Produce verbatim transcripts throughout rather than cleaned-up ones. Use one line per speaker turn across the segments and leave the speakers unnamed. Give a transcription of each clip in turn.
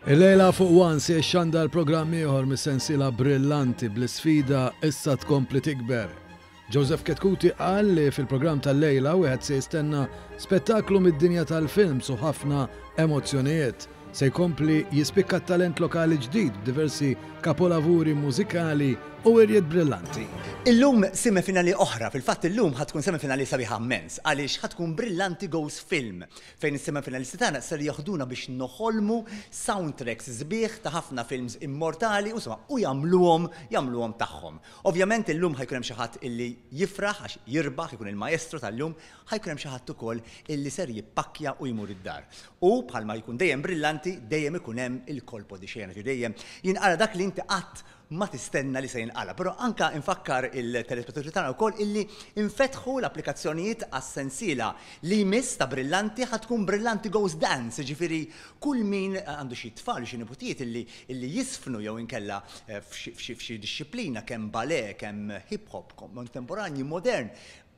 Illejla fuq One se xandar programm ieħor mis-sensiela Brillanti, bl-isfida issa tkompli tikber. Joseph Chetcuti qal li fil-programm tal-lejla wieħed se jistenna spettaklu mid-dinja tal-films u ħafna emozzjonijiet. Se jkompli jispikka talent lokali ġdid b'diversi kapolavuri mużikali u wirjiet brillanti.
Illum semifinali oħra, fil-fatt illum ħa tkun semifinali sabiħa immens, għaliex ħa tkun Brillanti Goes Film, fejn is-semifinalisti tagħna ser joħduna biex noħolmu soundtracks sbieħ ta' ħafna films immortali u insomma u jagħmluhom jagħmluhom tagħhom. Ovvjament illum ħa jkun hemm xi ħadd illi jifraħ għax jirbaħ, ikun il-maestro tal-lum, ħa jkun hemm xi ħadd ukoll illi ser jippakkja u jmur id-dar. U bħalma jkun dejjem Brillanti, dejjem ikun hemm il-colpo di scena, dejjem jinqala dak li inti qatt ma tistenna li se jinqala. Però anka infakkar il-telespettaturi tagħna wkoll illi infetħu l-applikazzjonijiet għas-sensiela li jmiss ta' Brillanti, ħa tkun Brillanti Goes Dance, ġifieri kull min għandu xi tfal, xi niputijiet illi illi jiżfnu jew inkella eh, f'xi dixxiplina, kemm ballet, kemm hip hop, kontemporanji, modern,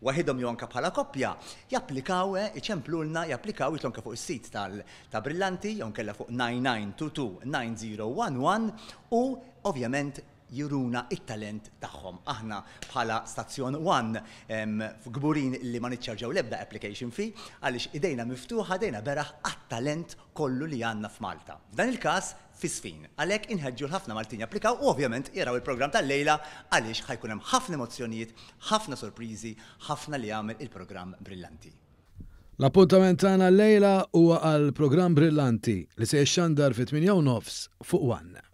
waħidhom jew anka bħala koppja, japplikaw, eh, iċemplulna, japplikaw jitilgħu anke fuq is-sit tal ta' Brillanti jew nkella fuq nine nine two two nine zero one one u ovvjament juruna it-talent tagħhom. Aħna bħala Stazzjon One kburin li ma niċċarġaw l-ebda application fee, għaliex idejna miftuħa, idejna beraħ għat-talent kollu li għandna f'Malta. F'dan il-każ fiż-żfin. Għalhekk inħeġġu l-ħafna Maltin japplikaw u ovvjament jaraw il-programm tal-lejla, għaliex ħa jkun hemm ħafna emozzjonijiet, ħafna sorpriżi, ħafna li jagħmel il-programm Brillanti.
L-appuntament tagħna llejla huwa għal programm Brillanti li se jixxandar fit-tmienja u nofs fuq One.